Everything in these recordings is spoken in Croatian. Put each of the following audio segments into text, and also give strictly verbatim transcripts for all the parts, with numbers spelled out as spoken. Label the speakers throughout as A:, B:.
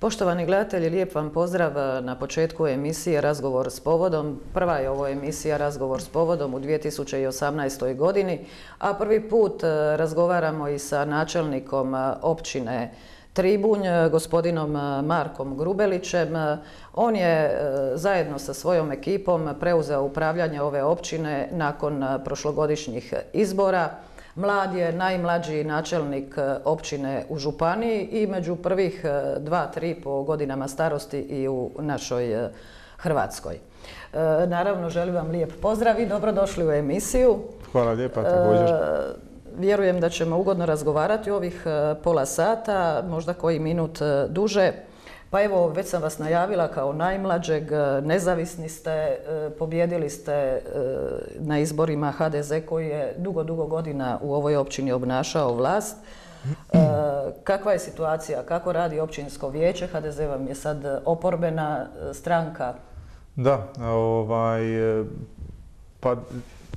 A: Poštovani gledatelji, lijep vam pozdrav na početku emisije Razgovor s povodom. Prva je ovo emisija Razgovor s povodom u dvije tisuće osamnaestoj godini, a prvi put razgovaramo i sa načelnikom općine Tribunj, gospodinom Markom Grubelićem. On je zajedno sa svojom ekipom preuzeo upravljanje ove općine nakon prošlogodišnjih izbora. Mlad je najmlađi načelnik općine u županiji i među prvih dva, tri po godinama starosti i u našoj Hrvatskoj. Naravno, želim vam lijep pozdrav i dobrodošli u emisiju.
B: Hvala lijepa, također.
A: Vjerujem da ćemo ugodno razgovarati ovih pola sata, možda koji minut duže. Pa evo, već sam vas najavila kao najmlađeg, nezavisni ste, pobjedili ste na izborima H D Z koji je dugo, dugo godina u ovoj općini obnašao vlast. Kakva je situacija, kako radi općinsko vijeće? H D Z vam je sad oporbena stranka.
B: Da, ovaj, pa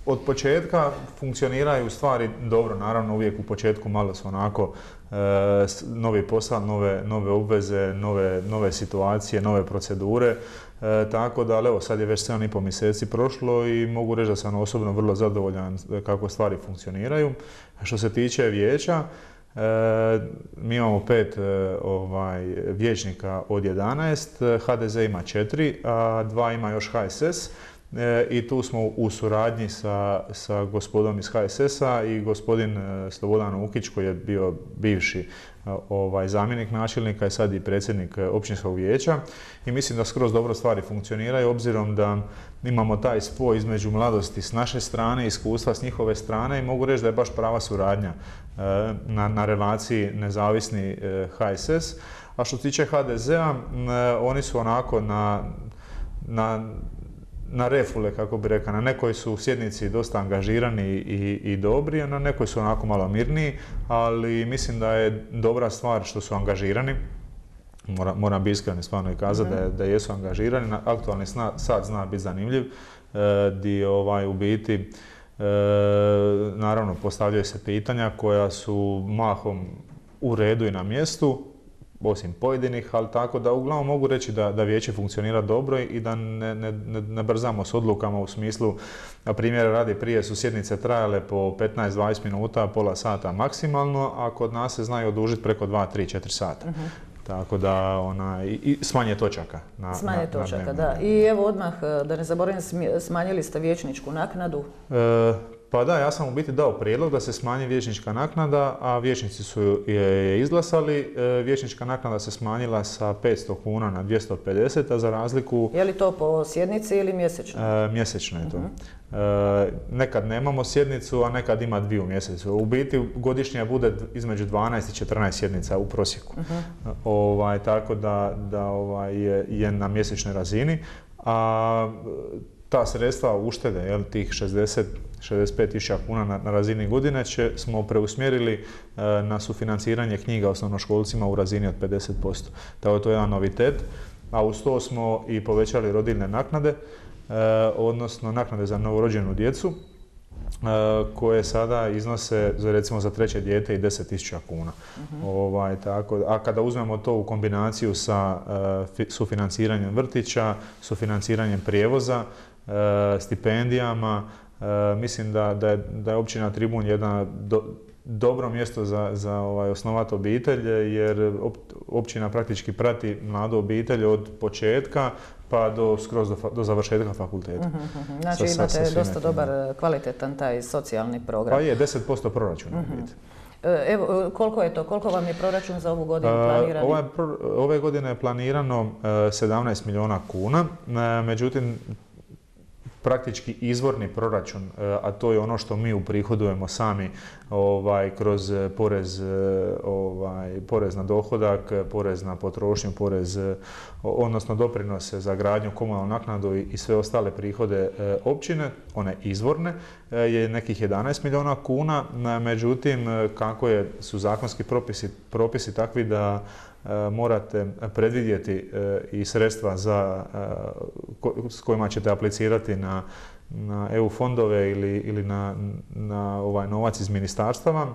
B: od početka funkcioniraju stvari dobro, naravno uvijek u početku malo su onako e, novi posao, nove, nove obveze, nove, nove situacije, nove procedure, e, tako da evo sad je već sedam i pol mjeseci prošlo i mogu reći da sam osobno vrlo zadovoljan kako stvari funkcioniraju. Što se tiče vijeća, e, mi imamo pet e, ovaj, vijećnika od jedanaest, H D Z ima četiri, a dva ima još H S S. I tu smo u suradnji sa, sa gospodom iz H S S-a i gospodin Slobodan Ukić koji je bio bivši ovaj, zamjenik načelnika i sad i predsjednik općinskog vijeća. I mislim da skroz dobro stvari funkcioniraju obzirom da imamo taj spoj između mladosti s naše strane, iskustva s njihove strane i mogu reći da je baš prava suradnja na, na relaciji nezavisni H S S. A što se tiče H D Z-a, oni su onako na, na na refule, kako bi rekao, na nekoj su sjednici dosta angažirani i, i dobri, a na nekoj su onako malo mirniji, ali mislim da je dobra stvar što su angažirani. Moram, moram biti iskren stvarno i kazati mm-hmm. da, da jesu angažirani. Aktualni sad zna biti zanimljiv, e, di ovaj, u biti e, naravno postavljaju se pitanja koja su mahom u redu i na mjestu, osim pojedinih, ali tako da uglavnom mogu reći da, da vijeće funkcionira dobro i da ne, ne, ne brzamo s odlukama u smislu, na primjer radi prije su sjednice trajale po petnaest do dvadeset minuta, pola sata maksimalno, a kod nas se znaju odužiti preko dva, tri, četiri sata. Uh-huh. Tako da ona, i, i smanje točaka. Na,
A: smanje
B: na,
A: točaka,
B: na
A: da. I evo odmah, da ne zaboravim, smanjili ste vijećničku naknadu.
B: E, Pa da, ja sam u biti dao prijedlog da se smanji vijećnička naknada, a vijećnici su je izglasali. Vijećnička naknada se smanjila sa petsto kuna na dvjesto pedeset, a za razliku...
A: Je li to po sjednici ili mjesečno?
B: E, mjesečno je to. Uh-huh. E, nekad nemamo sjednicu, a nekad ima dvije u mjesecu. U biti godišnje bude između dvanaest i četrnaest sjednica u prosjeku. Uh-huh. ovaj, tako da, da ovaj, je, je na mjesečnoj razini. A ta sredstva uštede, jel, tih šezdeset do šezdeset pet tisuća kuna na, na razini godine će, smo preusmjerili e, na sufinanciranje knjiga osnovnoškolcima u razini od pedeset posto. Tako to je jedan novitet, a uz to smo i povećali rodiljne naknade, e, odnosno naknade za novorođenu djecu, e, koje sada iznose za, recimo za treće dijete i deset tisuća kuna. Uh-huh. ovaj, tako, a kada uzmemo to u kombinaciju sa e, sufinanciranjem vrtića, sufinanciranjem prijevoza, e, stipendijama, E, mislim da, da, je, da je općina Tribunj jedno do, dobro mjesto za, za ovaj, osnovati obitelj, jer op, općina praktički prati mladu obitelj od početka pa do, skroz do, do završetka fakulteta.
A: Uh-huh, znači sa, imate sa dosta dobar, kvalitetan taj socijalni program.
B: Pa je, deset posto proračuna. Uh-huh.
A: Evo, koliko je to? Koliko vam je proračun za ovu godinu planiran?
B: Ove, ove godine je planirano sedamnaest milijuna kuna, međutim, praktički izvorni proračun, a to je ono što mi uprihodujemo sami ovaj, kroz porez, ovaj, porez na dohodak, porez na potrošnju, porez, odnosno doprinose za gradnju, komunalnu naknadu i sve ostale prihode općine, one izvorne, je nekih jedanaest milijuna kuna, međutim kako je, su zakonski propisi, propisi takvi da morate predvidjeti i sredstva za, s kojima ćete aplicirati na, na E U fondove ili, ili na, na ovaj novac iz ministarstava.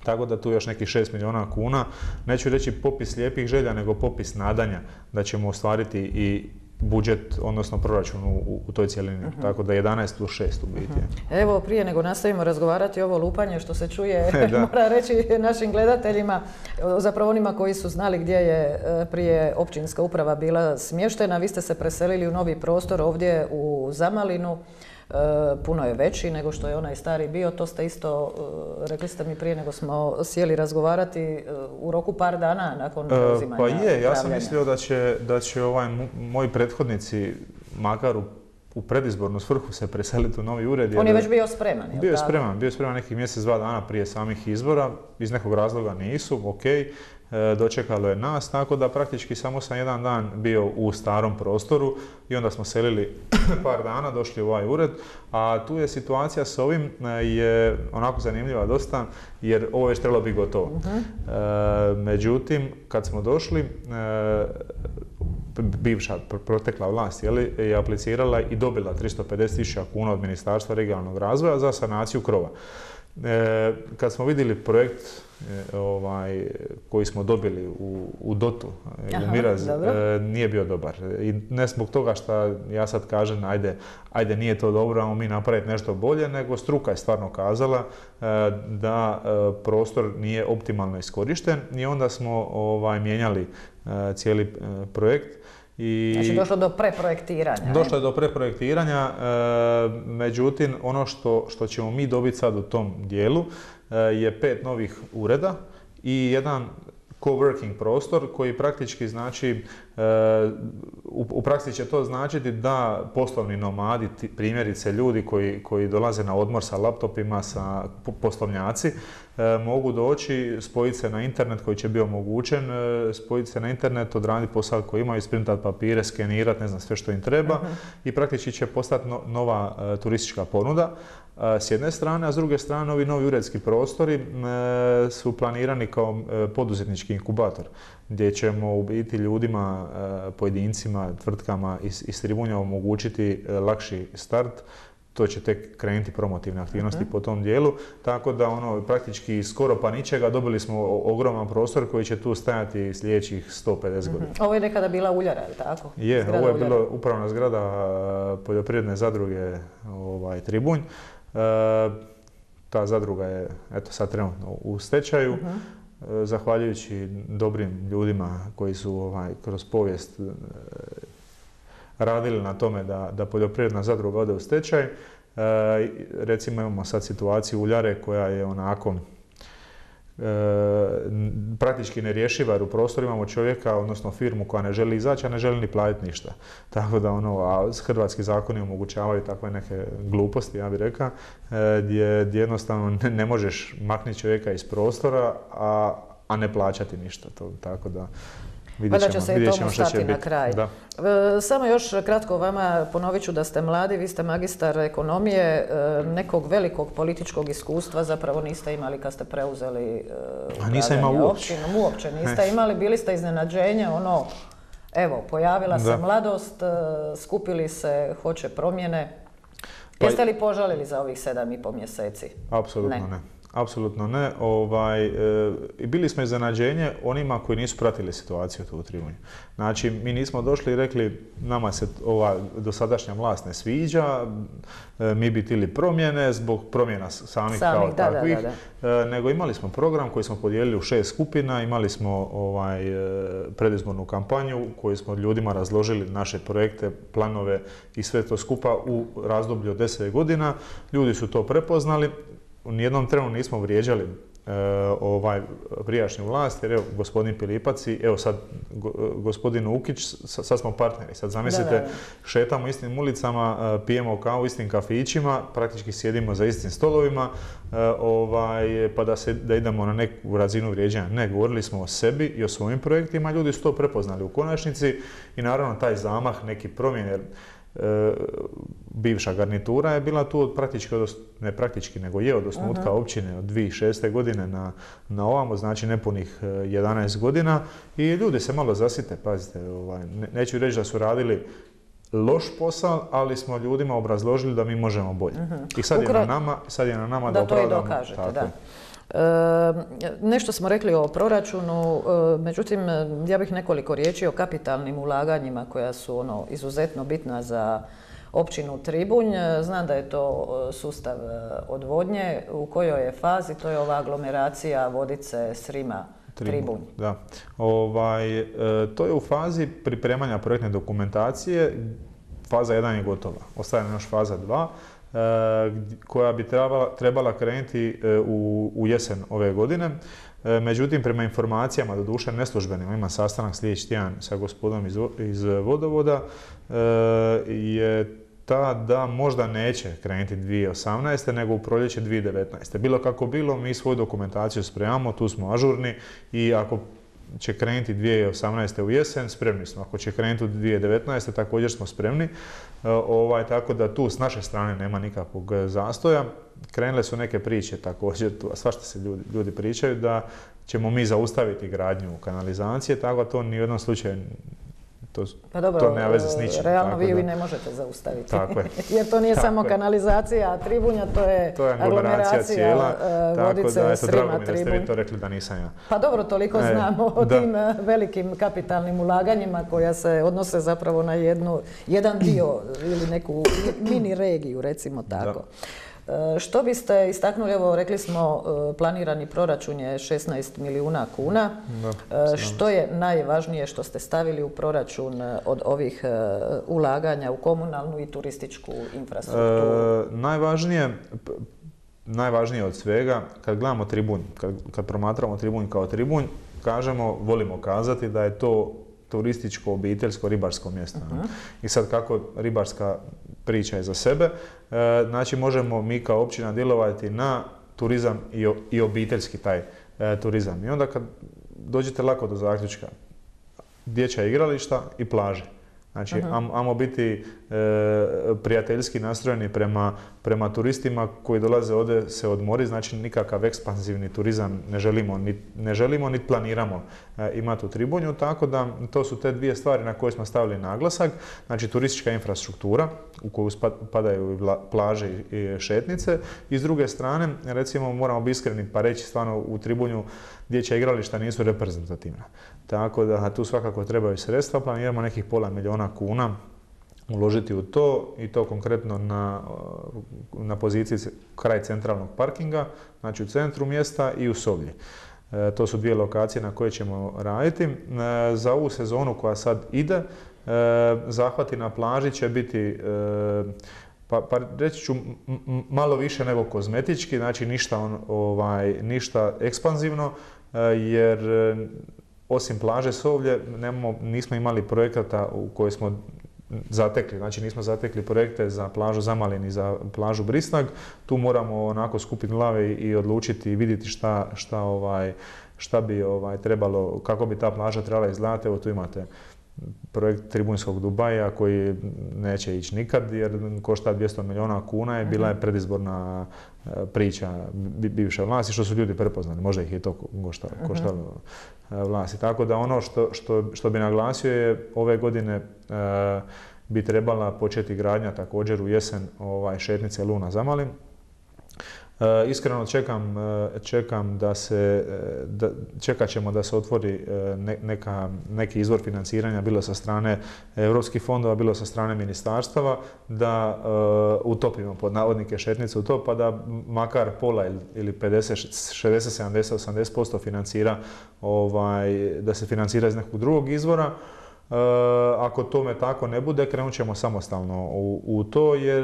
B: Tako da tu još nekih šest milijuna kuna, neću reći popis lijepih želja, nego popis nadanja da ćemo ostvariti i budžet, odnosno proračun u, u toj cjelini. Uh-huh. Tako da jedanaest plus šest u biti.
A: Uh-huh. Evo, prije nego nastavimo razgovarati ovo lupanje što se čuje, mora reći našim gledateljima, zapravo onima koji su znali gdje je prije općinska uprava bila smještena, vi ste se preselili u novi prostor ovdje u Zamalinu. Puno je veći nego što je onaj stari bio, to ste isto, rekli ste mi prije nego smo sjeli razgovarati, u roku par dana nakon preuzimanja.
B: Pa je, ja sam mislio da će, da će ovaj, moji prethodnici, makar u, u predizbornu svrhu se preseliti u novi ured.
A: On je već bio spreman, je li
B: Bio je
A: tako?
B: spreman, bio je spreman nekih mjesec, dva dana prije samih izbora, iz nekog razloga nisu, ok. Dočekalo je nas, tako da praktički samo sam jedan dan bio u starom prostoru i onda smo selili par dana, došli u ovaj ured, a tu je situacija s ovim je onako zanimljiva dosta, jer ovo već trebalo biti gotovo. Uh-huh. E, međutim, kad smo došli, e, bivša protekla vlast jeli, je aplicirala i dobila tristo pedeset tisuća kuna od Ministarstva regionalnog razvoja za sanaciju krova. E, kad smo vidjeli projekt e, ovaj, koji smo dobili u, u Dotu, u Miraz, e, nije bio dobar. I ne zbog toga što ja sad kažem, ajde, ajde nije to dobro, ajmo mi napraviti nešto bolje, nego struka je stvarno kazala e, da e, prostor nije optimalno iskorišten i onda smo ovaj, mijenjali e, cijeli e, projekt.
A: I znači došlo do preprojektiranja.
B: Došlo je do preprojektiranja, e, međutim ono što, što ćemo mi dobiti sad u tom dijelu e, je pet novih ureda i jedan coworking prostor koji praktički znači, e, u, u praksi će to značiti da poslovni nomadi, primjerice ljudi koji, koji dolaze na odmor sa laptopima, sa poslovnjaci, e, mogu doći, spojiti se na internet koji će biti omogućen, e, spojiti se na internet, odraditi posao koji imaju, isprintati papire, skenirati, ne znam sve što im treba uh-huh. i praktički će postati no, nova e, turistička ponuda. S jedne strane, a s druge strane ovi novi uredski prostori e, su planirani kao e, poduzetnički inkubator, gdje ćemo u biti ljudima, e, pojedincima, tvrtkama iz, iz Tribunja omogućiti e, lakši start. To će tek krenuti promotivne aktivnosti uh-huh. po tom dijelu, tako da ono praktički skoro pa ničega dobili smo ogroman prostor koji će tu stajati sljedećih sto pedeset uh-huh. godina.
A: Ovo je nekada bila uljara, je li tako?
B: Je, zgrada ovo je bila upravna zgrada poljoprivredne zadruge ovaj, Tribunj. E, ta zadruga je eto sad trenutno u stečaju, uh-huh. e, zahvaljujući dobrim ljudima koji su ovaj, kroz povijest e, radili na tome da, da poljoprivredna zadruga ode u stečaj. E, recimo imamo sad situaciju uljare koja je onako e, praktički nerješiva, jer u prostoru imamo čovjeka, odnosno firmu koja ne želi izaći, a ne želi ni platiti ništa. Tako da ono, a hrvatski zakoni omogućavaju takve neke gluposti, ja bih rekao, e, gdje, gdje jednostavno ne, ne možeš maknuti čovjeka iz prostora, a, a ne plaćati ništa. To, tako da
A: Pa da će se i tomu stati na kraj. Da. Samo još kratko vama, ponovit ću da ste mladi, vi ste magistar ekonomije, nekog velikog političkog iskustva zapravo niste imali kad ste preuzeli upravljanje općinom. Uopće niste imali, bili ste iznenađenje, ono, evo, pojavila se mladost, skupili se, hoće promjene. Jeste li požalili za ovih sedam i pol mjeseci?
B: Apsolutno ne. ne. Apsolutno ne. Ovaj, e, bili smo iznenađenje onima koji nisu pratili situaciju tu u Tribunju. Znači, mi nismo došli i rekli nama se ova dosadašnja vlast ne sviđa, e, mi bi htjeli promjene zbog promjena samih, samih kao da, takvih, da, da, da. E, nego imali smo program koji smo podijelili u šest skupina, imali smo ovaj, e, predizbornu kampanju koju smo ljudima razložili naše projekte, planove i sve to skupa u razdoblju od deset godina. Ljudi su to prepoznali. U nijednom trenu nismo vrijeđali e, ovaj prijašnju vlast, jer evo gospodin Pilipac i evo sad go, gospodin Ukić, sad smo partneri. Sad zamislite, da, da, da. šetamo istim ulicama, pijemo kavu u istim kafićima, praktički sjedimo za istim stolovima, e, ovaj, pa da, se, da idemo na neku razinu vrijeđanja. Ne, govorili smo o sebi i o svojim projektima, ljudi su to prepoznali u konačnici i naravno taj zamah, neki promjene. E, bivša garnitura je bila tu od praktički, od, ne praktički, nego je od osnutka uh-huh. općine od dvije tisuće šeste. godine na, na ovamo, znači nepunih jedanaest godina i ljudi se malo zasite, pazite, ovaj, ne, neću reći da su radili loš posao, ali smo ljudima obrazložili da mi možemo bolje. Uh-huh. I sad je, na nama, sad je na nama da,
A: da
B: opravdamo.
A: To i dokažete, da. Nešto smo rekli o proračunu, međutim ja bih nekoliko riječi o kapitalnim ulaganjima koja su ono izuzetno bitna za općinu Tribunj. Znam da je to sustav odvodnje. U kojoj je fazi? To je ova aglomeracija Vodice, Srima, Tribunj.
B: Da. Ovaj, e, to je u fazi pripremanja projektne dokumentacije. Faza jedan je gotova. Ostaje još faza dva. Koja bi trebala, trebala krenuti u, u jesen ove godine. Međutim, prema informacijama, doduše neslužbenim, ima sastanak sljedeći tjedan sa gospodom iz, iz vodovoda, je ta da možda neće krenuti dvije tisuće osamnaeste. nego u proljeće dvije tisuće devetnaeste. Bilo kako bilo, mi svoju dokumentaciju spremamo, tu smo ažurni i ako će krenuti dvije tisuće osamnaeste. u jesen, spremni smo. Ako će krenuti u dvije tisuće devetnaeste. također smo spremni. Ovaj, tako da tu s naše strane nema nikakvog zastoja. Krenule su neke priče također, tu, a svašta se ljudi, ljudi pričaju, da ćemo mi zaustaviti gradnju kanalizacije, tako da to ni u jednom slučaju to,
A: pa dobro,
B: to nema veze s ničim.
A: Realno vi
B: da,
A: vi ne možete zaustaviti.
B: Tako je.
A: Jer to nije
B: tako
A: samo
B: je.
A: kanalizacija Tribunja, to je,
B: to je
A: aglomeracija
B: cijela,
A: Vodice,
B: tako da,
A: Srima,
B: drago mi da ste
A: Tribunj.
B: vi to rekli da nisam ja.
A: Pa dobro, toliko
B: e,
A: znamo o
B: da.
A: tim velikim kapitalnim ulaganjima koja se odnose zapravo na jednu, jedan dio ili neku mini regiju, recimo tako. Da. Što biste istaknuli, evo rekli smo planirani proračun je šesnaest milijuna kuna. Da, što je najvažnije što ste stavili u proračun od ovih ulaganja u komunalnu i turističku infrastrukturu?
B: E, najvažnije, najvažnije od svega, kad gledamo Tribunj, kad, kad promatramo Tribunj kao Tribunj, kažemo, volimo kazati da je to turističko, obiteljsko, ribarsko mjesto. Uh-huh. I sad kako ribarska priča je za sebe, e, znači možemo mi kao općina djelovati na turizam i, o, i obiteljski taj e, turizam. I onda kad dođete lako do zaključka, dječja igrališta i plaže. Znači, uh-huh. ajmo biti e, prijateljski nastrojeni prema, prema turistima koji dolaze ovdje se odmori, znači nikakav ekspanzivni turizam ne želimo, ni, ne želimo niti planiramo e, imati u Tribunju, tako da to su te dvije stvari na koje smo stavili naglasak. Znači, turistička infrastruktura u koju padaju plaže i šetnice i s druge strane, recimo, moramo biti iskreni pa reći stvarno u Tribunju dječja igrališta nisu reprezentativna. Tako da tu svakako trebaju sredstva, planiramo nekih pola milijuna kuna uložiti u to i to konkretno na, na poziciji kraj centralnog parkinga, znači u centru mjesta i u Sovlji. E, to su dvije lokacije na koje ćemo raditi. E, za ovu sezonu koja sad ide, e, zahvati na plaži će biti e, Pa, pa reći ću m- malo više nego kozmetički, znači ništa, on, ovaj, ništa ekspanzivno, jer osim plaže Sovlje nemamo, nismo imali projekata u koje smo zatekli, znači nismo zatekli projekte za plažu Zamalin i za plažu Brisnag. Tu moramo onako skupiti glave i odlučiti i vidjeti šta, šta, ovaj, šta bi ovaj, trebalo, kako bi ta plaža trebala izgledati. Evo tu imate projekt Tribunjskog Dubaja koji neće ići nikad jer košta dvjesto milijuna kuna i bila je predizborna priča bivše vlasti što su ljudi prepoznali, možda ih je to koštalo, koštalo vlasti. Tako da ono što, što, što bi naglasio je ove godine e, bi trebala početi gradnja također u jesen ovaj, šetnice Luna Zamalin. E, iskreno čekam, čekam da se, da, čekat ćemo da se otvori ne, neka, neki izvor financiranja, bilo sa strane europskih fondova, bilo sa strane ministarstava, da uh, utopimo pod navodnike šetnice u to, pa da makar pola ili pedeset, šezdeset, sedamdeset, osamdeset posto financira, ovaj, da se financira iz nekog drugog izvora. Uh, ako tome tako ne bude, krenut ćemo samostalno u, u to jer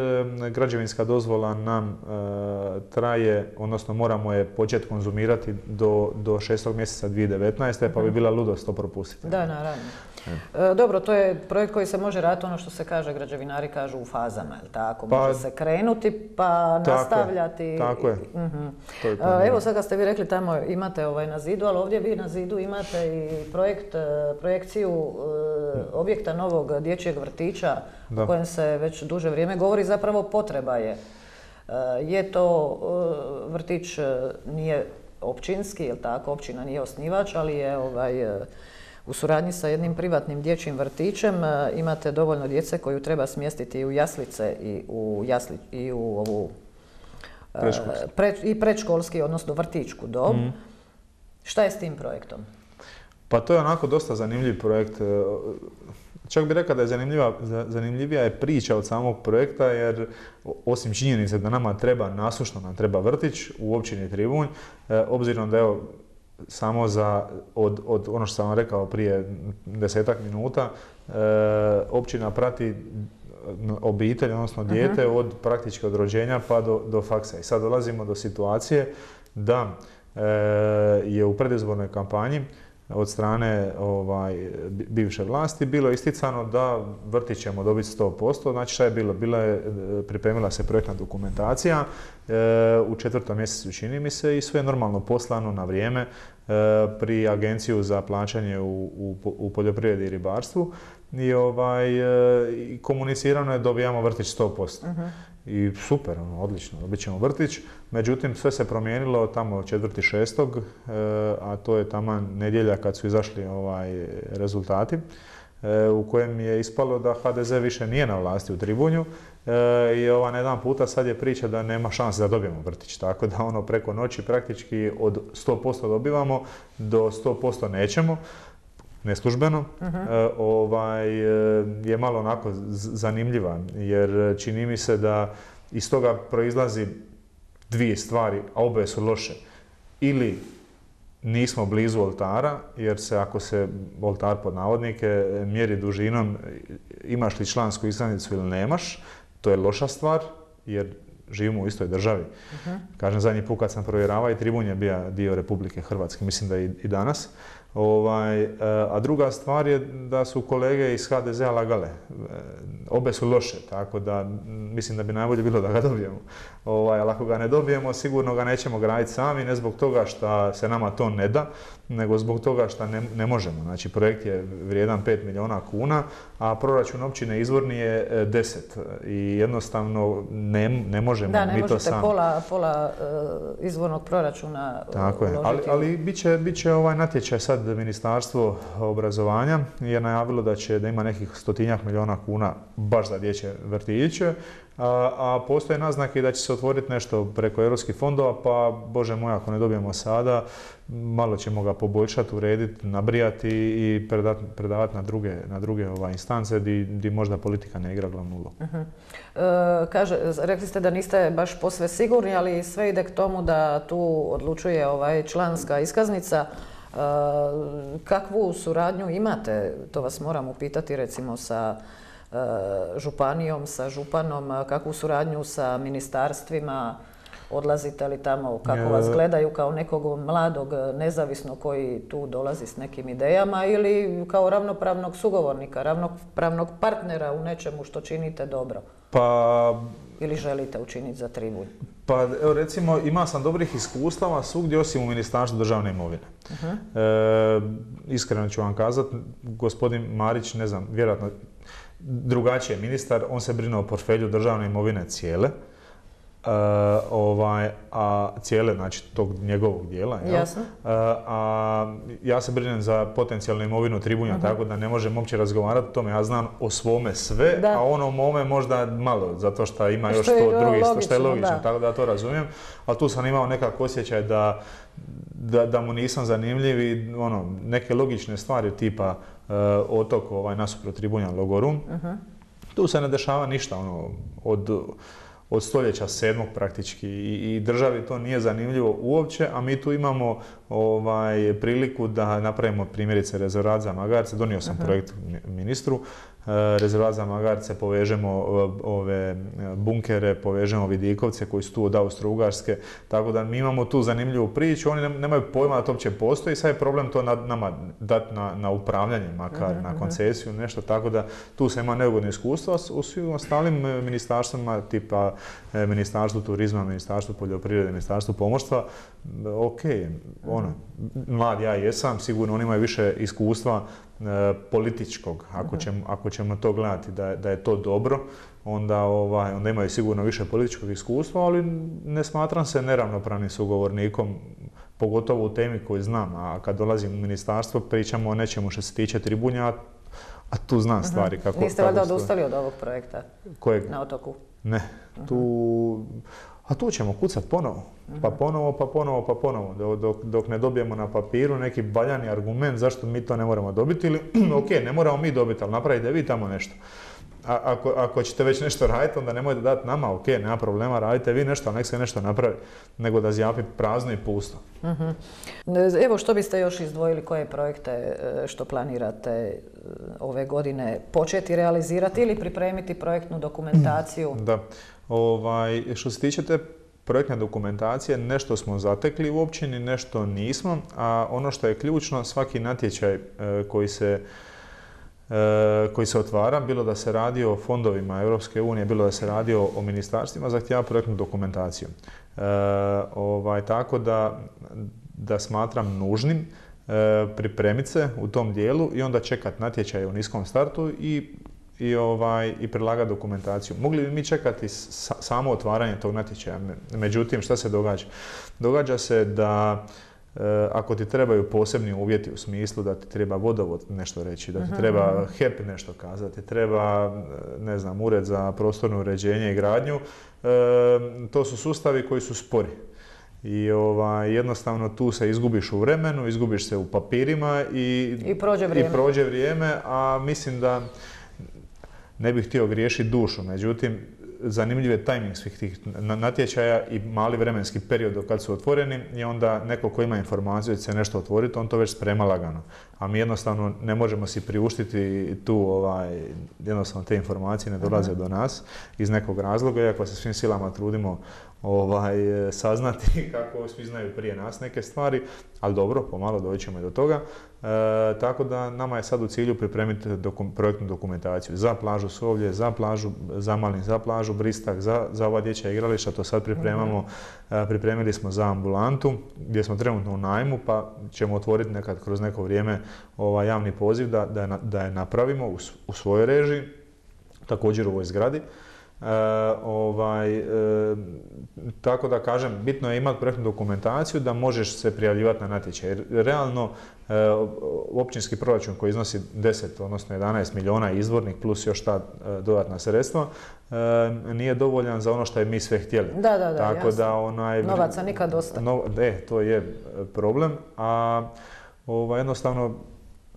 B: građevinska dozvola nam uh, traje, odnosno moramo je početi konzumirati do, do šestog mjeseca dvije tisuće devetnaeste. pa bi bila ludost to propustiti.
A: Da, naravno. E, dobro, to je projekt koji se može raditi, ono što se kaže, građevinari kažu u fazama, jel tako?
B: Pa,
A: može se krenuti pa
B: tako
A: nastavljati.
B: Tako je.
A: Uh-huh.
B: To je
A: e, evo sad kad ste vi rekli tamo imate ovaj na zidu, ali ovdje vi na zidu imate i projekt, projekciju uh, objekta novog dječjeg vrtića da. o kojem se već duže vrijeme govori, zapravo potreba je. Uh, je to uh, vrtić uh, nije općinski, jel tako, općina nije osnivač, ali je ovaj uh, u suradnji sa jednim privatnim dječjim vrtićem imate dovoljno djece koju treba smjestiti i u jaslice i u, jasli, i u ovu pre, i predškolski, odnosno vrtićku dob. Mm. Šta je s tim projektom?
B: Pa to je onako dosta zanimljiv projekt. Čak bih rekao da je zanimljiva, zanimljivija je priča od samog projekta, jer osim činjenice da nama treba, nasušno nam treba vrtić u općini Tribunj, obzirom da evo, samo za, od, od ono što sam vam rekao prije desetak minuta, općina prati obitelj, odnosno dijete, uh-huh. od praktički od rođenja pa do, do faksa. I sad dolazimo do situacije da e, je u predizbornoj kampanji od strane ovaj, bivše vlasti bilo isticano da vrtić ćemo dobiti sto posto. Znači šta je bilo? Bila je, pripremila se projektna dokumentacija e, u četvrtom mjesecu, čini mi se, i sve je normalno poslano na vrijeme e, pri Agenciju za plaćanje u, u, u poljoprivredi i ribarstvu. I ovaj, e, komunicirano je dobijamo vrtić sto posto. Uh-huh. I super, ono, odlično, dobit ćemo vrtić. Međutim, sve se promijenilo tamo četvrtog šestog e, a to je tamo nedjelja kad su izašli ovaj, rezultati, e, u kojem je ispalo da ha de ze više nije na vlasti u Tribunju e, i ova, na jedan puta sad je priča da nema šanse da dobijemo vrtić. Tako da ono preko noći praktički od sto posto dobivamo do sto posto nećemo. Neslužbeno, uh-huh. e, ovaj, je malo onako zanimljiva, jer čini mi se da iz toga proizlazi dvije stvari, a obe su loše. Ili nismo blizu oltara, jer se ako se oltar pod navodnike mjeri dužinom, imaš li člansku iskaznicu ili nemaš, to je loša stvar, jer živimo u istoj državi. Uh-huh. Kažem, zadnji put kad sam provjeravao i Tribunj je bio dio Republike Hrvatske, mislim da i, i danas. Ovaj, a druga stvar je da su kolege iz ha de zea lagale. Obe su loše, tako da mislim da bi najbolje bilo da ga dobijemo. Ovaj, ali ako ga ne dobijemo, sigurno ga nećemo graditi sami, ne zbog toga što se nama to ne da, nego zbog toga što ne, ne možemo. Znači, projekt je vrijedan pet milijuna kuna, a proračun općine izvorni je deset. I jednostavno ne, ne možemo
A: da, ne
B: mi to sami.
A: Da, ne možete pola, pola uh, izvornog proračuna uh,
B: tako je, ali, ali bit će, bit će ovaj natječaj sad Ministarstvo obrazovanja je najavilo da će da ima nekih stotinjak milijuna kuna baš za dječje vrtiće, a, a postoje naznake da će se otvoriti nešto preko europskih fondova, pa Bože moj, ako ne dobijemo sada, malo ćemo ga poboljšati, urediti, nabrijati i predavati, predavati na druge, na druge ovaj, instance gdje možda politika ne igra glavnu ulogu.
A: Uh-huh. E, kaže, rekli ste da niste baš posve sigurni, ali sve ide k tomu da tu odlučuje ovaj, članska iskaznica. E, kakvu suradnju imate, to vas moram upitati, recimo sa e, županijom, sa županom, kakvu suradnju sa ministarstvima, odlazite li tamo, kako vas gledaju kao nekog mladog nezavisnog koji tu dolazi s nekim idejama ili kao ravnopravnog sugovornika, ravnopravnog partnera u nečemu što činite dobro?
B: Pa...
A: Ili želite učiniti za Tribunj?
B: Pa evo recimo, ima sam dobrih iskustava svugdje osim u Ministarstvu državne imovine. Uh-huh. E, iskreno ću vam kazati, gospodin Marić, ne znam, vjerojatno drugačiji je ministar, on se brine o portfelju državne imovine cijele. Uh, ovaj, a cijele, znači tog njegovog dijela.
A: Jasno.
B: Uh, a ja se brinem za potencijalnu imovinu Tribunja, uh-huh. tako da ne možem uopće razgovarati o tome. Ja znam o svome sve, da. A ono o mome možda malo, zato što ima još to drugi, što je logično, da. Tako da to razumijem. Ali tu sam imao nekako osjećaj da, da, da mu nisam zanimljiv i ono, neke logične stvari tipa uh, otok ovaj, nasuprot Tribunja Logorum. Uh-huh. Tu se ne dešava ništa ono, od... od stoljeća sedmog praktički i, i državi to nije zanimljivo uopće, a mi tu imamo ovaj, priliku da napravimo primjerice rezervat za magarce. Donio sam uh-huh. projekt ministru, rezervat za magarce, povežemo ove bunkere, povežemo vidikovce koji su tu od Austro-Ugarske, tako da mi imamo tu zanimljivu priču, oni nemaju pojma da to uopće postoji, sad je problem to na, nama dati na, na upravljanje, makar uh-huh. na koncesiju, nešto, tako da tu se ima neugodno iskustvo, u svim ostalim ministarstvima, tipa Ministarstvu turizma, Ministarstvu poljoprivrede, Ministarstvu pomorstva, ok, ono, mlad ja jesam, sigurno oni imaju više iskustva e, političkog, ako ćemo, ako ćemo to gledati da, da je to dobro, onda, ovaj, onda imaju sigurno više političkog iskustva, ali ne smatram se neravnopravnim sugovornikom, pogotovo u temi koju znam, a kad dolazim u ministarstvo pričamo o nečemu što se tiče Tribunja, a tu znam stvari kako...
A: Niste valjda odustali od ovog projekta?
B: Kojeg?
A: Na otoku?
B: Ne, tu... a tu ćemo kucat ponovo, pa ponovo, pa ponovo, pa ponovo, dok, dok ne dobijemo na papiru neki valjani argument zašto mi to ne moramo dobiti ili ok, ne moramo mi dobiti, ali napravite vi tamo nešto. A, ako, ako ćete već nešto raditi, onda nemojte dati nama, ok, nema problema, radite vi nešto, ali nek se nešto napravi, nego da zjapi prazno i pusto.
A: Uh-huh. Evo, što biste još izdvojili, koje projekte što planirate ove godine početi realizirati ili pripremiti projektnu dokumentaciju?
B: Da, ovaj, što se tiče te projektne dokumentacije, nešto smo zatekli u općini, nešto nismo, a ono što je ključno, svaki natječaj e, koji se koji se otvara, bilo da se radi o fondovima Europske unije, bilo da se radi o, o ministarstvima, zahtijeva projektnu dokumentaciju. E, ovaj, tako da, da smatram nužnim e, pripremiti se u tom dijelu i onda čekati natječaje u niskom startu i, i, ovaj, i prilagati dokumentaciju. Mogli bi mi čekati sa, samo otvaranje tog natječaja, međutim šta se događa? Događa se da ako ti trebaju posebni uvjeti u smislu da ti treba vodovod nešto reći, da ti treba H E P nešto kazati, treba, ne znam, ured za prostorno uređenje i gradnju, to su sustavi koji su spori. I ovaj, jednostavno tu se izgubiš u vremenu, izgubiš se u papirima i,
A: I, prođe, vrijeme.
B: i prođe vrijeme, a mislim da ne bih htio griješiti dušu, međutim, zanimljiv je tajming svih tih natječaja i mali vremenski period do kad su otvoreni i onda neko ko ima informaciju da će se nešto otvoriti, on to već sprema lagano. A mi jednostavno ne možemo si priuštiti tu, ovaj, jednostavno te informacije ne dolaze do nas iz nekog razloga, iako se svim silama trudimo ovaj, saznati kako svi znaju prije nas neke stvari, ali dobro, pomalo doći ćemo i do toga. E, tako da nama je sad u cilju pripremiti dokum, projektnu dokumentaciju za plažu Sovlje, za plažu Zamalin, za plažu Bristak, za, za ova dječja igrališta, to sad pripremamo. E, pripremili smo za ambulantu gdje smo trenutno u najmu, pa ćemo otvoriti nekad kroz neko vrijeme ovaj, javni poziv da, da, je, da je napravimo u, u svojoj režiji, također u ovoj zgradi. E, ovaj, e, tako da kažem, bitno je imati projektnu dokumentaciju da možeš se prijavljivati na natječaj. Realno, e, općinski proračun koji iznosi deset, odnosno jedanaest milijuna izvornik plus još ta e, dodatna sredstva, e, nije dovoljan za ono što je mi sve htjeli.
A: Da, da, da,
B: tako
A: jasno.
B: Da onaj,
A: novaca nikad dosta.
B: No, e, to je problem, a ovaj, jednostavno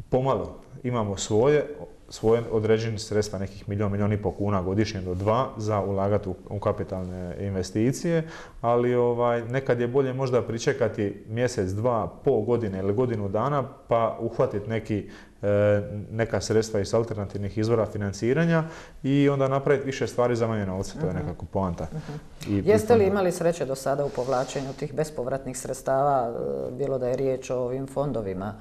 B: pomalo imamo svoje, svoje određene sredstva, nekih milijon, milijon i pol kuna godišnje do dva za ulagati u, u kapitalne investicije, ali ovaj, nekad je bolje možda pričekati mjesec, dva, pol godine ili godinu dana pa uhvatiti neki, e, neka sredstva iz alternativnih izvora financiranja i onda napraviti više stvari za manje novca, to je nekako poanta.
A: Uh-huh. I Jeste li imali sreće do sada u povlačenju tih bespovratnih sredstava, bilo da je riječ o ovim fondovima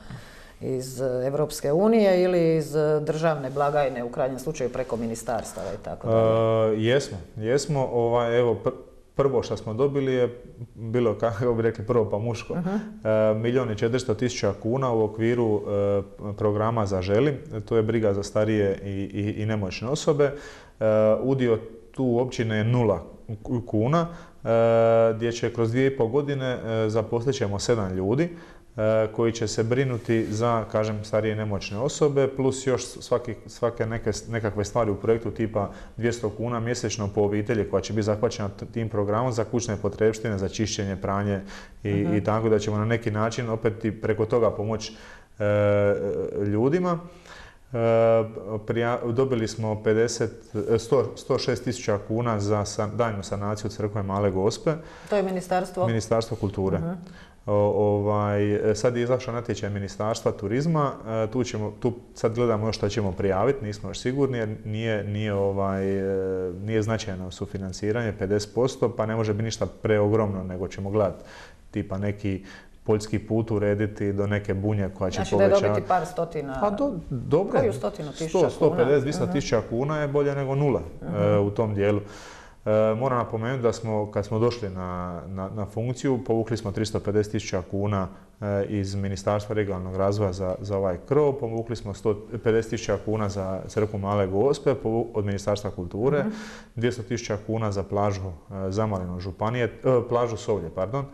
A: iz Europske unije ili iz državne blagajne, u krajnjem slučaju preko ministarstava i tako dalje?
B: Uh, jesmo, jesmo. Ovaj, evo, pr prvo što smo dobili je bilo, kako bi rekli, prvo pa muško. Uh-huh. uh, Milijon i četiristo tisuća kuna u okviru uh, programa Zaželi. To je briga za starije i, i, i nemoćne osobe. Uh, udio tu općine je nula kuna, uh, gdje će kroz dvije i pol godine uh, zaposlit ćemo sedam ljudi koji će se brinuti za, kažem, starije nemoćne osobe, plus još svaki, svake neke, nekakve stvari u projektu tipa dvjesto kuna mjesečno po obitelji koja će biti zahvaćena tim programom za kućne potrepštine, za čišćenje, pranje i, uh-huh. i tako da ćemo na neki način opet i preko toga pomoći e, ljudima. E, prija, dobili smo pedeset, sto, sto šest tisuća kuna za san, daljnju sanaciju crkve Male Gospe.
A: To je Ministarstvo?
B: Ministarstvo kulture. Uh-huh. O, ovaj, sad je izašao natječaj Ministarstva turizma, tu, ćemo, tu sad gledamo još što ćemo prijaviti, nismo još sigurni jer nije, nije, ovaj, nije značajno sufinanciranje, pedeset posto, pa ne može biti ništa preogromno, nego ćemo gledati tipa neki poljski put urediti do neke bunje koja će
A: znači
B: povećati.
A: Znači da je dobiti par stotina,
B: pa do, dobre,
A: koju stotinu tisuća kuna?
B: sto, sto pedeset, dvjesto tisuća kuna je bolje nego nula uh-huh. uh, u tom dijelu. E, moram napomenuti da smo, kad smo došli na, na, na funkciju, povukli smo tristo pedeset tisuća kuna e, iz Ministarstva regionalnog razvoja za, za ovaj krov, povukli smo sto pedeset tisuća kuna za crkvu Male Gospe od Ministarstva kulture, mm-hmm. dvjesto tisuća kuna za plažu e, Zamalino županije, e, plažu Sovlje, pardon.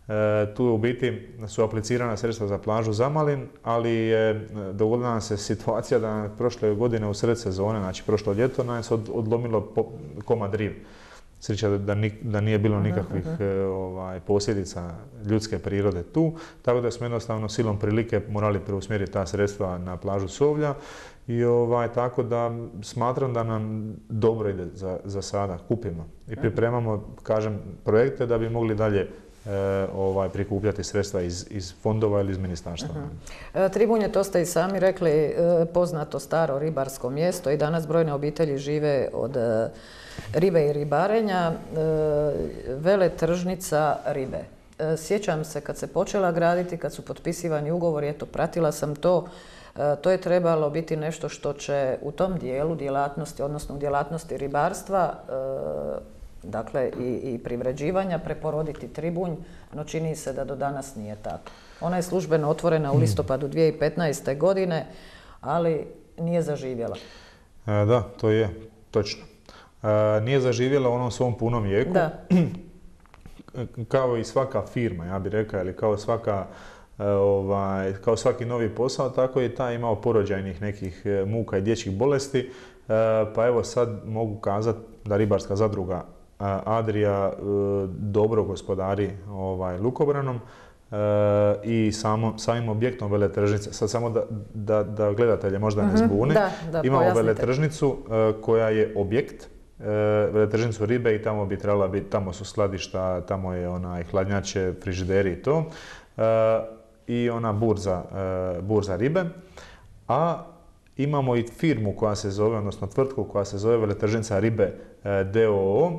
B: E, tu u biti su aplicirana sredstva za plažu Zamalin, ali je dogodila nam se situacija da prošle godine u sred sezone, znači prošlo ljeto, nam se od, odlomilo po, komad rive. sreća da, da nije bilo nikakvih uh -huh. ovaj, posljedica ljudske prirode tu, tako da smo jednostavno silom prilike morali preusmjeriti ta sredstva na plažu Sovlja i ovaj, tako da smatram da nam dobro ide za, za sada, kupimo i pripremamo, kažem, projekte da bi mogli dalje E, ovaj, prikupljati sredstva iz, iz fondova ili iz ministarstva.
A: Uh-huh. Tribunje, to ste i sami rekli, poznato staro ribarsko mjesto i danas brojne obitelji žive od ribe i ribarenja. Veletržnica ribe. Sjećam se kad se počela graditi, kad su potpisivani ugovori, eto, pratila sam to, to je trebalo biti nešto što će u tom dijelu djelatnosti, odnosno u djelatnosti ribarstva, dakle i, i privređivanja, preporoditi Tribunj, no čini se da do danas nije tako. Ona je službeno otvorena u listopadu dvije tisuće petnaeste. godine, ali nije zaživjela.
B: E, da, to je točno. E, nije zaživjela u onom svom punom jeku.
A: Da.
B: Kao i svaka firma, ja bih rekao, ili kao svaka ovaj, kao svaki novi posao, tako je i taj imao porođajnih nekih muka i dječjih bolesti. E, pa evo sad mogu kazati da ribarska zadruga Adria dobro gospodari ovaj, lukobranom e, i samo, samim objektom veletržnice. Sad samo da, da, da gledatelje možda ne zbuni.
A: Da, da,
B: imamo
A: pojasnite.
B: veletržnicu e, koja je objekt, e, veletržnicu ribe i tamo bi trebala biti, tamo su skladišta, tamo je onaj hladnjače, frižideri i to. E, I ona burza, e, burza ribe. A imamo i firmu koja se zove, odnosno tvrtku koja se zove Veletržnica ribe d o o,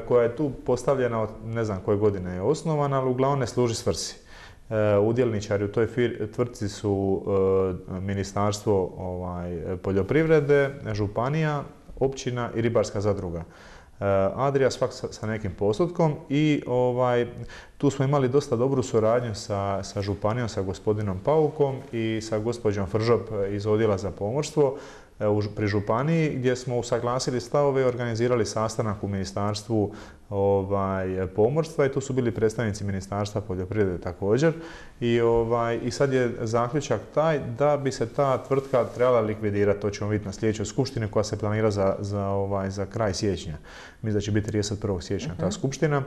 B: koja je tu postavljena od ne znam koje godine je osnovana, ali uglavnom ne služi svrsi. Udjelničari u toj tvrtci su Ministarstvo ovaj, poljoprivrede, županija, općina i ribarska zadruga Adria, svak sa, sa nekim postotkom i ovaj, tu smo imali dosta dobru suradnju sa, sa županijom, sa gospodinom Paukom i sa gospođom Fržop iz odjela za pomorstvo pri županiji, gdje smo usaglasili stavove i organizirali sastanak u Ministarstvu ovaj, pomorstva i tu su bili predstavnici Ministarstva poljoprivrede također. I, ovaj, i sad je zaključak taj da bi se ta tvrtka trebala likvidirati, to ćemo vidjeti na sljedećoj skupštini koja se planira za, za, ovaj, za kraj siječnja. Mislim da će biti trideset prvog siječnja ta skupština.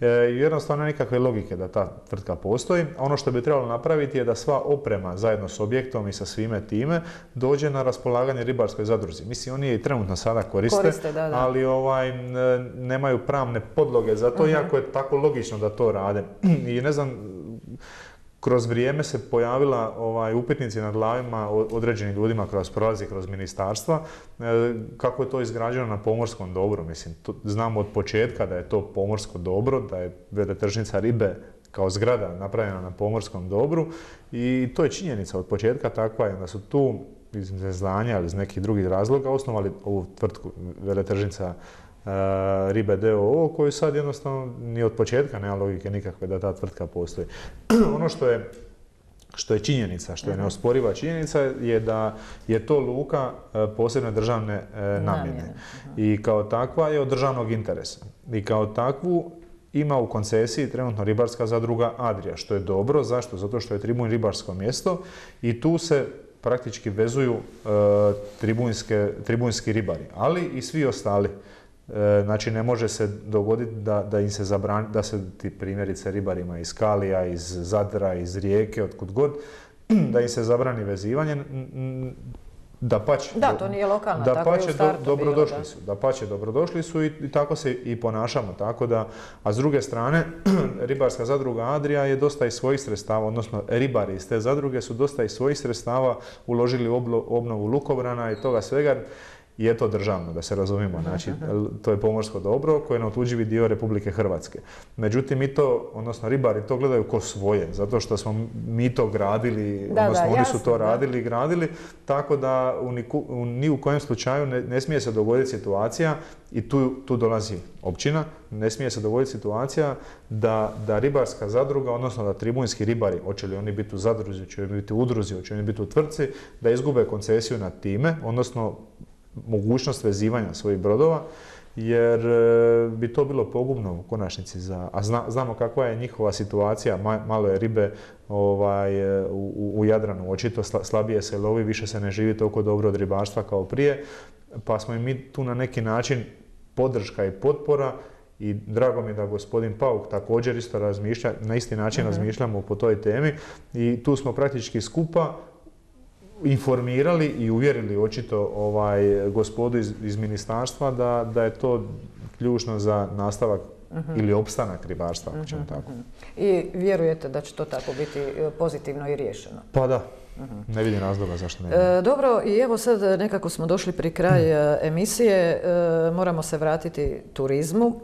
B: E, jednostavno nikakve logike da ta tvrtka postoji. Ono što bi trebalo napraviti je da sva oprema zajedno s objektom i sa svime time dođe na raspolaganje ribarskoj zadruzi. Mislim, oni je i trenutno sada koriste,
A: koriste da, da.
B: ali ovaj, nemaju pravne podloge za to, uh-huh. iako je tako logično da to rade. I ne znam, kroz vrijeme se pojavila ovaj, upitnici na glavima određenim ljudima kroz prolazi kroz ministarstva, e, kako je to izgrađeno na pomorskom dobru. Mislim, to, znamo od početka da je to pomorsko dobro, da je veletržnica ribe kao zgrada napravljena na pomorskom dobru i to je činjenica od početka takva je da su tu iz neznanja ili iz nekih drugih razloga osnovali ovu tvrtku veletržnica uh, ribe d o o koju sad jednostavno ni od početka nema logike nikakve da ta tvrtka postoji. Ono što je što je činjenica, što je neosporiva činjenica je da je to luka posebne državne namjene i kao takva je od državnog interesa i kao takvu ima u koncesiji trenutno ribarska zadruga Adria, što je dobro. Zašto? Zato što je Tribunj ribarsko mjesto i tu se praktički vezuju e, tribunjske, tribunjski ribari, ali i svi ostali. E, znači ne može se dogoditi da, da im se zabrani, da se ti primjerice ribarima iz Kalija, iz Zadra, iz Rijeke, otkud god, da im se zabrani vezivanje. Dapače,
A: da, to nije lokalna,
B: da
A: tako
B: pače,
A: je u startu
B: do, dobrodošli
A: bilo,
B: su, da pače, dobrodošli su i, i tako se i ponašamo, tako da, a s druge strane, ribarska zadruga Adria je dosta iz svojih sredstava, odnosno ribari iz te zadruge su dosta iz svojih sredstava uložili u oblo, obnovu lukobrana i toga svega, i je to državno, da se razumijemo, znači to je pomorsko dobro koje je neotuđivi dio Republike Hrvatske. Međutim, mi to, odnosno ribari to gledaju ko svoje, zato što smo mi to gradili,
A: da,
B: odnosno
A: da,
B: oni
A: jasno,
B: su to radili i
A: da.
B: gradili, tako da u, niku, u ni u kojem slučaju ne, ne smije se dogoditi situacija, i tu, tu dolazi općina, ne smije se dogoditi situacija da, da ribarska zadruga, odnosno da tribunjski ribari, hoće li oni biti u zadruzi, hoće li biti u udruzi, hoće li oni biti u tvrtci, da izgube koncesiju nad time, odnosno mogućnost vezivanja svojih brodova, jer bi to bilo pogubno u konačnici za, a zna, znamo kakva je njihova situacija, ma, malo je ribe ovaj, u, u Jadranu, očito slabije se lovi, više se ne živi toliko dobro od ribarstva kao prije, pa smo i mi tu na neki način podrška i potpora i drago mi da gospodin Pauk također isto razmišlja, na isti način uh-huh. razmišljamo po toj temi i tu smo praktički skupa informirali i uvjerili očito ovaj, gospodu iz, iz ministarstva da, da je to ključno za nastavak uh-huh. ili opstanak ribarstva, ako ćemo uh-huh. tako.
A: I vjerujete da će to tako biti pozitivno i riješeno?
B: Pa da. Uh-huh. Ne vidim razloga zašto ne.
A: E, dobro, i evo sad nekako smo došli pri kraj emisije. E, moramo se vratiti turizmu.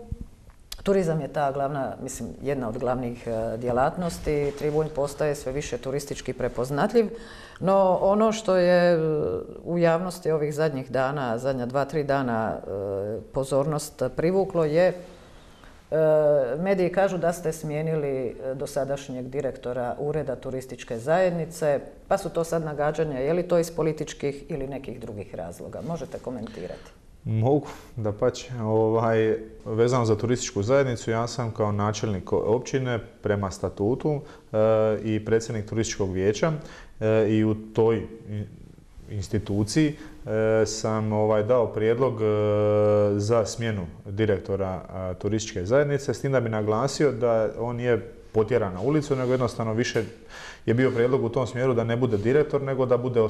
A: Turizam je ta glavna, mislim, jedna od glavnih djelatnosti. Tribunj postaje sve više turistički prepoznatljiv, no ono što je u javnosti ovih zadnjih dana, zadnja dva, tri dana pozornost privuklo je, mediji kažu da ste smijenili dosadašnjeg direktora Ureda turističke zajednice, pa su to sad nagađanja, je li to iz političkih ili nekih drugih razloga? Možete komentirati.
B: Mogu, dapače. Ovaj, vezano za turističku zajednicu, ja sam kao načelnik općine prema statutu e, i predsjednik turističkog vijeća e, i u toj instituciji e, sam ovaj, dao prijedlog e, za smjenu direktora a, turističke zajednice, s tim da bi naglasio da on nije potjeran na ulicu, nego jednostavno više je bio prijedlog u tom smjeru da ne bude direktor, nego da bude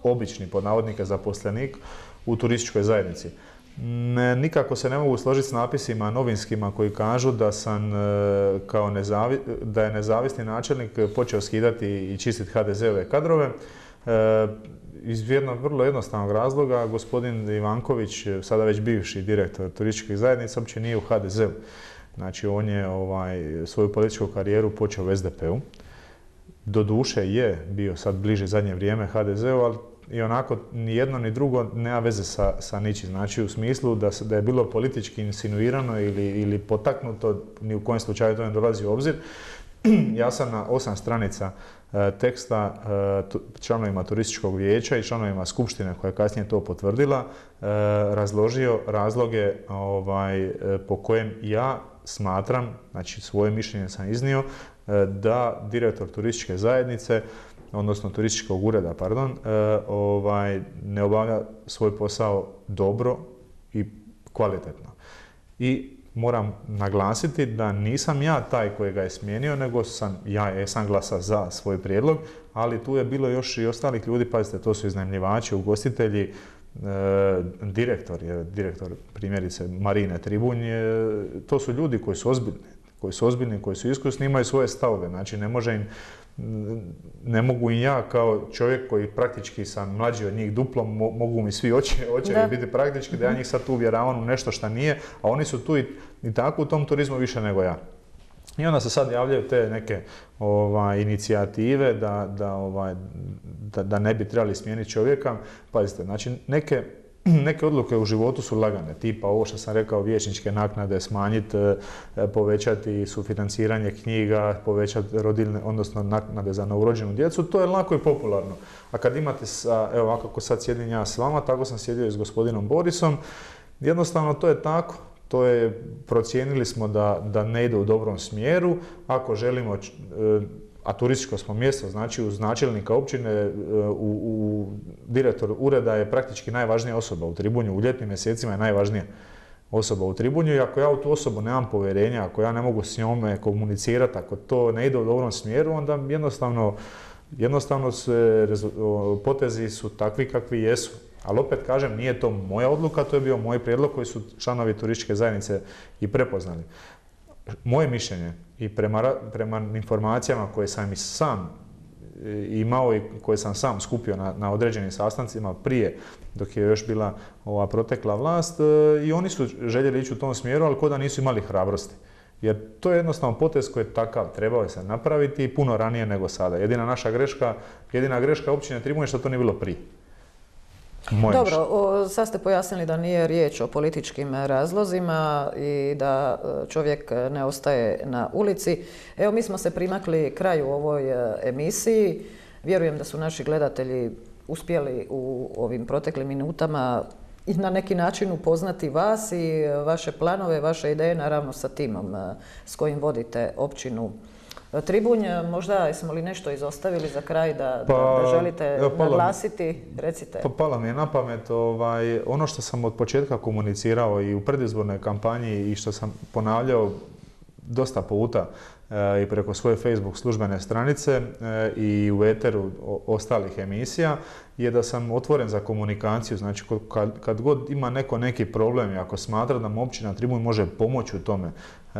B: obični, pod navodnike, zaposlenik u turističkoj zajednici. Ne, nikako se ne mogu složiti s napisima novinskima koji kažu da sam e, kao nezavi, da je nezavisni načelnik počeo skidati i čistiti ha de ze-ove kadrove. E, iz jednog vrlo jednostavnog razloga, gospodin Ivanković, sada već bivši direktor turističkih zajednica, uopće nije u ha de ze-u. Znači, on je ovaj, svoju političku karijeru počeo u es de pe-u. Doduše je bio sad bliže zadnje vrijeme ha de ze-u, ali i onako ni jedno ni drugo nema veze sa, sa ničim. Znači, u smislu da, da je bilo politički insinuirano ili, ili potaknuto, ni u kojem slučaju to ne dolazi u obzir. Ja sam na osam stranica e, teksta e, tu, članovima turističkog vijeća i članovima skupštine koja je kasnije to potvrdila, e, razložio razloge ovaj, e, po kojem ja smatram, znači svoje mišljenje sam iznio, e, da direktor turističke zajednice, odnosno turističkog ureda, pardon, e, ovaj, ne obavlja svoj posao dobro i kvalitetno. I moram naglasiti da nisam ja taj koji ga je smijenio, nego sam, ja jesam glasa za svoj prijedlog, ali tu je bilo još i ostalih ljudi, pazite, to su iznajmljivači, ugostitelji, e, direktor, je, direktor primjerice Marine Tribunj, je, to su ljudi koji su ozbiljni, koji su ozbiljni, koji su iskusni, imaju svoje stavove, znači ne može im ne mogu i ja kao čovjek koji praktički sam mlađi od njih duplom, mogu mi svi očevi biti praktički da ja njih sad tu uvjeravam u nešto što nije, a oni su tu i, i tako u tom turizmu više nego ja. I onda se sad javljaju te neke ovaj, inicijative da, da, ovaj, da, da ne bi trebali smijeniti čovjeka. Pazite, znači neke Neke odluke u životu su lagane, tipa ovo što sam rekao, vijećničke naknade smanjiti, povećati sufinanciranje knjiga, povećati rodiljne, odnosno naknade za novorođenu djecu, to je lako i popularno. A kad imate, sa, evo ovako kako sad sjedim ja s vama, tako sam sjedio i s gospodinom Borisom, jednostavno to je tako. To je, procijenili smo da, da ne ide u dobrom smjeru, ako želimo, a turističko smo mjesto, znači uz načelnika općine, u, u direktor ureda je praktički najvažnija osoba u Tribunju, u ljetnim mjesecima je najvažnija osoba u Tribunju i ako ja u tu osobu nemam povjerenja, ako ja ne mogu s njome komunicirati, ako to ne ide u dobrom smjeru, onda jednostavno, jednostavno se, potezi su takvi kakvi jesu. Ali opet kažem, nije to moja odluka, to je bio moj prijedlog koji su članovi turističke zajednice i prepoznali. Moje mišljenje i prema, prema informacijama koje sam i sam imao i koje sam sam skupio na, na određenim sastancima prije, dok je još bila ova protekla vlast, i oni su željeli ići u tom smjeru, ali ko da nisu imali hrabrosti. Jer to je jednostavno potez koji je takav, trebao je se napraviti puno ranije nego sada. Jedina naša greška, jedina greška općine Tribunj je što to nije bilo prije. Moje
A: Dobro, o, sad ste pojasnili da nije riječ o političkim razlozima i da čovjek ne ostaje na ulici. Evo, mi smo se primakli kraju ovoj emisiji. Vjerujem da su naši gledatelji uspjeli u ovim proteklim minutama i na neki način upoznati vas i vaše planove, vaše ideje, naravno sa timom s kojim vodite općinu Tribunj, možda jesmo li nešto izostavili za kraj da,
B: Pa,
A: da, da želite
B: evo, palo mi-
A: naglasiti? Recite.
B: Pa palo mi je na pamet ovaj, ono što sam od početka komunicirao i u predizbornoj kampanji i što sam ponavljao dosta puta e, i preko svoje Facebook službene stranice e, i u eteru o- ostalih emisija je da sam otvoren za komunikaciju. Znači kad, kad god ima neko neki problem i ako smatra da mu općina Tribunj može pomoći u tome, e,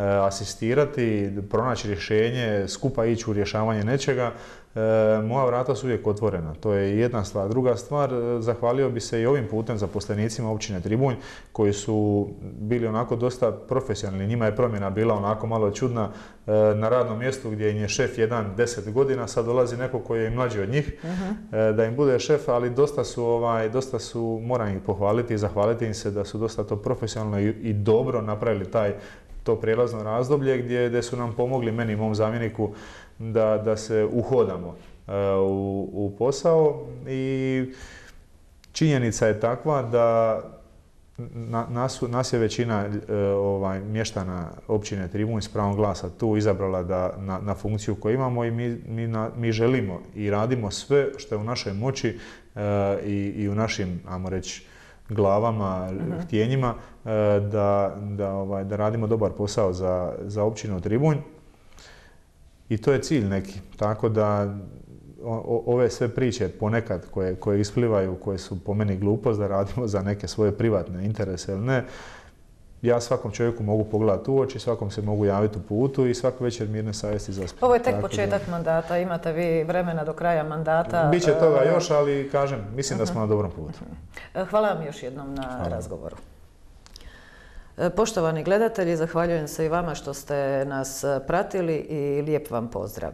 B: asistirati, pronaći rješenje, skupa ići u rješavanje nečega, e, moja vrata su uvijek otvorena. To je jedna stvar. Druga stvar, e, zahvalio bi se i ovim putem zaposlenicima općine Tribunj koji su bili onako dosta profesionalni. Njima je promjena bila onako malo čudna e, na radnom mjestu gdje im je šef jedan deset godina, sad dolazi neko koji je i mlađi od njih e, da im bude šef, ali dosta su, ovaj, dosta su, moram ih pohvaliti i zahvaliti im se da su dosta to profesionalno i, i dobro napravili taj to prijelazno razdoblje gdje, gdje su nam pomogli, meni i mom zamjeniku, da, da se uhodamo e, u, u posao i činjenica je takva da na, nas, nas je većina e, ovaj, mještana općine Tribunj s pravom glasa tu izabrala da, na, na funkciju koju imamo i mi, mi, na, mi želimo i radimo sve što je u našoj moći e, i, i u našim, ajmo reći, glavama, uh-huh. htjenjima e, da, da, ovaj, da radimo dobar posao za, za općinu Tribunj. I to je cilj neki. Tako da o, ove sve priče ponekad koje, koje isplivaju, koje su po meni glupost da radimo za neke svoje privatne interese ili ne, ja svakom čovjeku mogu pogledati u oči, svakom se mogu javiti u putu i svaku večer mirne savjesti zaspati.
A: Ovo je tek
B: Tako
A: početak
B: da,
A: imate vi vremena vremena do kraja mandata.
B: Biće toga još, ali kažem, mislim da smo na dobrom putu.
A: Hvala vam još jednom na
B: Hvala.
A: razgovoru. Poštovani gledatelji, zahvaljujem se i vama što ste nas pratili i lijep vam pozdrav.